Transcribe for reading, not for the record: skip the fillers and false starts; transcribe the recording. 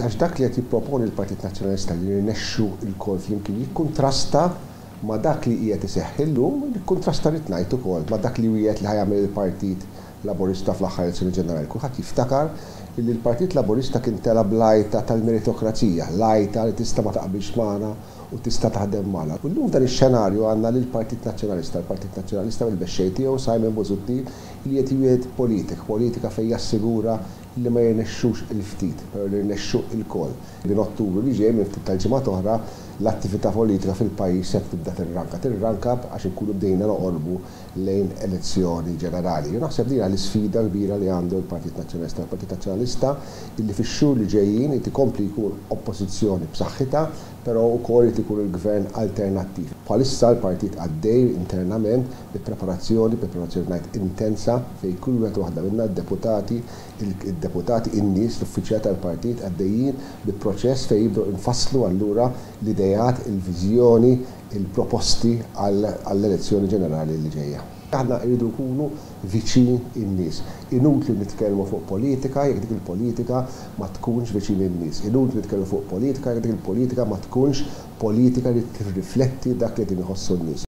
Għax dak li qed jipproponi l-Partit Nazzjonalista li nirnexxu lkoll flimkien jikkuntrasta ma' dak li qiegħed iseħħ illum, jikkuntrasta rrid ngħid ukoll ma' dak li wiegħed li ħa jagħmel il-Partit Laburista fl-aħħar elezzjoni ġenerali. Kulħadd jiftakar li l-Partit Laburista kien tela' bl-għajta tal-meritokrazija, l-għajta li tista' ma taqbilx magħna u tista' taħdem magħna. U llum f'dan ix-xenarju għandna lill-Partit Nazzjonalista, l-Partit Nazzjonalista bil-mexxej tiegħu Simon Busuttil li qed jwiegħed politika, politika fejn jassigura li ma jirnexxux il-ftit, però li jirnexxu lkoll. Minn Ottubru li ġej, minn ftit tal-ġimgħat oħra, l-attività politika fil-pajjiż se tibda tirranka. Tirranka għax inkunu bdejna noqorbu lejn elezzjoni ġenerali. Jien naħseb din hija l-isfida kbira li għandu l-Partit Nazzjonalista. Il-Partit Nazzjonalista illi fix-xhur li ġejjin irid ikompli jkun oppożizzjoni b'saħħitha, però wkoll irid ikun il-gvern alternattiv. Bħalissa l-partit għaddej internament bi preparazzjoni, preparazzjoni ngħid intensa fejn kull wieħed u waħda minna, d-deputati, id-deputati, in-nies, l-uffiċjali tal-partit għaddejjin bi proċess fejn jibdew infasslu allura l-ideat, il-viżjoni, il-proposti għall-elezzjoni ġenerali li ġejja. Aħna rridu nkunu viċin in-nies. Inutli nitkellmu fuq politika jekk dik il-politika ma tkunx viċin in-nies. Inutli nitkellmu fuq politika jekk dik il-politika ma tkunx politika li tirrifletti dak li qegħdin iħossu n-nies.